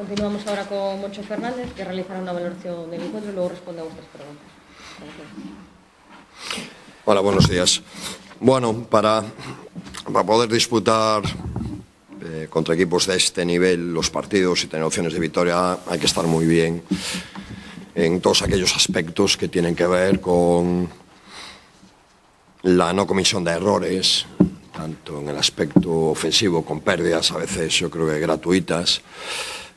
Continuamos ahora con Moncho Fernández, que realizará una valoración del encuentro y luego responde a vuestras preguntas. Gracias. Hola, buenos días. Bueno, para poder disputar contra equipos de este nivel los partidos y tener opciones de victoria hay que estar muy bien en todos aquellos aspectos que tienen que ver con la no comisión de errores, tanto en el aspecto ofensivo con pérdidas, a veces yo creo que gratuitas,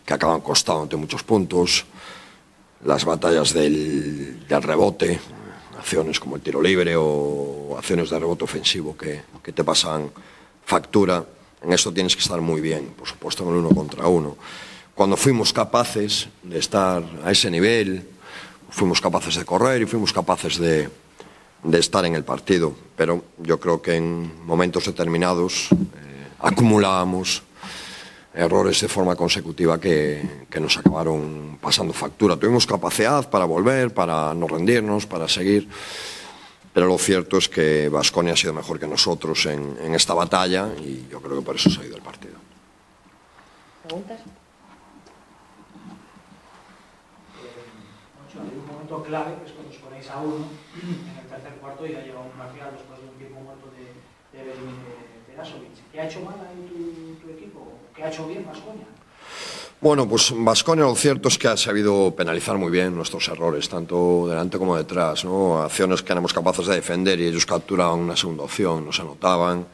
que acaban costándote muchos puntos, las batallas del rebote, acciones como el tiro libre o acciones de rebote ofensivo que te pasan factura. En esto tienes que estar muy bien, por supuesto, en el 1 contra 1. Cuando fuimos capaces de estar a ese nivel, fuimos capaces de correr y fuimos capaces de estar en el partido. Pero yo creo que en momentos determinados acumulábamos errores de forma consecutiva que nos acabaron pasando factura. Tuvimos capacidad para volver, para no rendirnos, para seguir, pero lo cierto es que Baskonia ha sido mejor que nosotros en esta batalla y yo creo que por eso se ha ido el partido. ¿Preguntas? Hay un momento clave, que es cuando os ponéis a uno en el tercer cuarto y ha llegado un parcial después de un tiempo muerto de Berasovic. ¿Qué ha hecho mal ahí tu equipo? ¿Qué ha hecho bien Baskonia? Bueno, pues Baskonia lo cierto es que ha sabido penalizar muy bien nuestros errores, tanto delante como detrás, ¿no? Acciones que éramos capaces de defender y ellos capturaban una segunda opción, no se anotaban,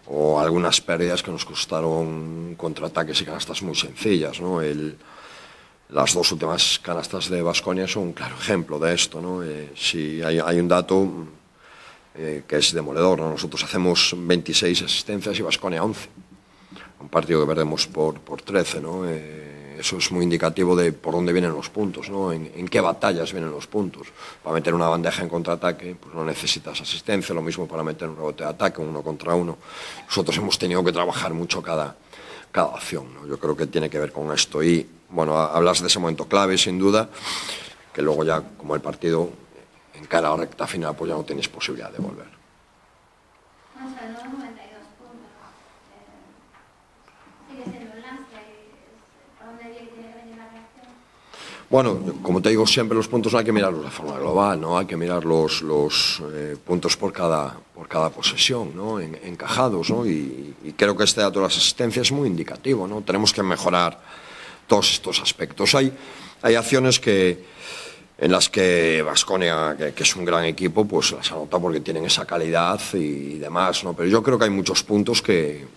o algunas pérdidas que nos costaron contraataques y canastas muy sencillas, ¿no? Las dos últimas canastas de Baskonia son un claro ejemplo de esto, ¿no? Si hay un dato que es demoledor, ¿no? Nosotros hacemos 26 asistencias y Baskonia 11. Un partido que perdemos por 13, ¿no? Eso es muy indicativo de por dónde vienen los puntos, ¿no? En qué batallas vienen los puntos. Para meter una bandeja en contraataque, pues no necesitas asistencia, lo mismo para meter un rebote de ataque, 1 contra 1. Nosotros hemos tenido que trabajar mucho cada acción, ¿no? Yo creo que tiene que ver con esto. Y, bueno, hablas de ese momento clave, sin duda, que luego ya, como el partido encara la recta final, pues ya no tienes posibilidad de volver. Bueno, como te digo siempre, los puntos no hay que mirarlos de forma global, ¿no? Hay que mirar los puntos por cada posesión, ¿no? Encajados, ¿no? Y creo que este dato de las asistencias es muy indicativo, ¿no? Tenemos que mejorar todos estos aspectos. Hay acciones en las que Baskonia, que es un gran equipo, pues las anota porque tienen esa calidad y demás, ¿no? Pero yo creo que hay muchos puntos que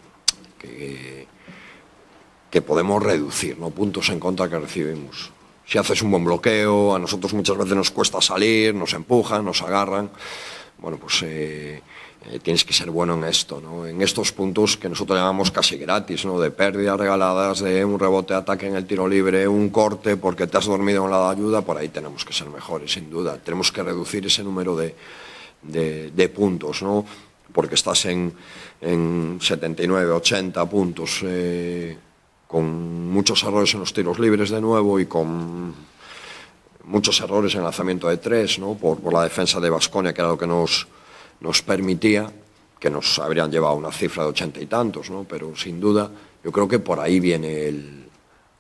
podemos reducir, ¿no? Puntos en contra que recibimos. Si haces un buen bloqueo, a nosotros muchas veces nos cuesta salir, nos empujan, nos agarran. Bueno, pues tienes que ser bueno en esto, ¿no? En estos puntos que nosotros llamamos casi gratis, ¿no? De pérdidas regaladas, de un rebote de ataque en el tiro libre, un corte porque te has dormido en la ayuda, por ahí tenemos que ser mejores, sin duda. Tenemos que reducir ese número de puntos, ¿no? Porque estás en 79, 80 puntos, con muchos errores en los tiros libres de nuevo y con muchos errores en el lanzamiento de tres, ¿no? Por la defensa de Baskonia, que era lo que nos permitía, que nos habrían llevado a una cifra de 80 y tantos, ¿no? Pero sin duda yo creo que por ahí viene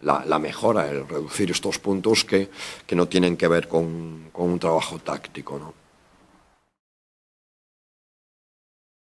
la mejora, el reducir estos puntos que no tienen que ver con un trabajo táctico, ¿no?